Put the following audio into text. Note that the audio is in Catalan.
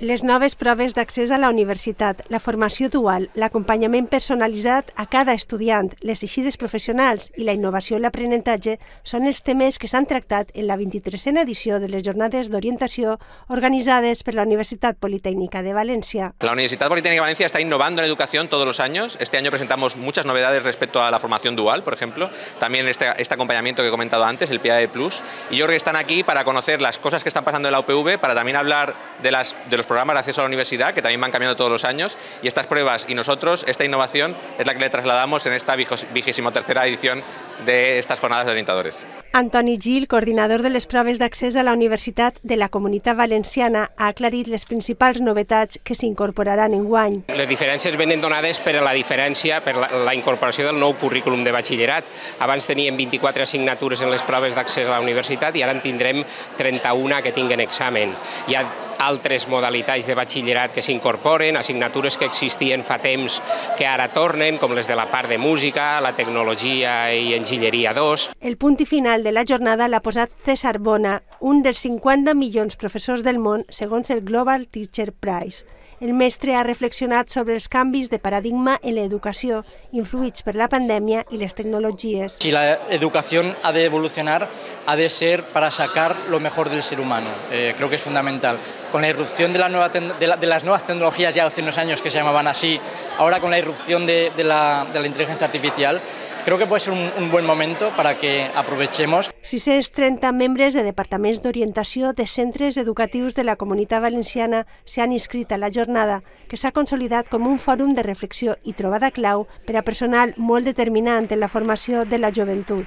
Les noves proves d'accés a la universitat, la formació dual, l'acompanyament personalitzat a cada estudiant, les eixides professionals i la innovació i l'aprenentatge són els temes que s'han tractat en la 23a edició de les jornades d'orientació organitzades per la Universitat Politécnica de Valencia. La Universidad Politécnica de Valencia está innovando en educación todos los años. Este año presentamos muchas novedades respecto a la formación dual, por ejemplo. También este acompañamiento que he comentado antes, el PIAE Plus. Y yo creo que están aquí para conocer las cosas que están pasando en la UPV, para también hablar de los programas de acceso a la universidad, que también van cambiando todos los años, y estas pruebas y nosotros, esta innovación es la que le trasladamos en esta 23a edición de estas jornadas de orientadores. Antoni Gil, coordinador de les proves d'accés a la Universitat de la Comunitat Valenciana, ha aclarit les principals novetats que s'incorporaran enguany. Les diferències venen donades per la diferència, per la incorporació del nou currículum de batxillerat. Abans teníem 24 assignatures en les proves d'accés a la universitat i ara en tindrem 31 que tinguen examen. Hi ha altres modalitats de batxillerat que s'incorporen, assignatures que existien fa temps que ara tornen, com les de la part de música, la tecnologia i enginyeria 2. El punt i final de la jornada l'ha posat César Bona, un dels 50 milions professors del món, segons el Global Teacher Prize. El mestre ha reflexionat sobre els canvis de paradigma en l'educació, influïts per la pandèmia i les tecnologies. Si la educación ha de evolucionar, ha de ser para sacar lo mejor del ser humano. Creo que es fundamental. Con la irrupción de las nuevas tecnologías, ya hace unos años que se llamaban así, ahora con la irrupción de la inteligencia artificial, creo que puede ser un buen momento para que aprovechemos. 630 membres de departaments d'orientació de centres educatius de la Comunitat Valenciana s'han inscrit a la jornada, que s'ha consolidat com un fòrum de reflexió i trobada clau per a personal molt determinant en la formació de la joventut.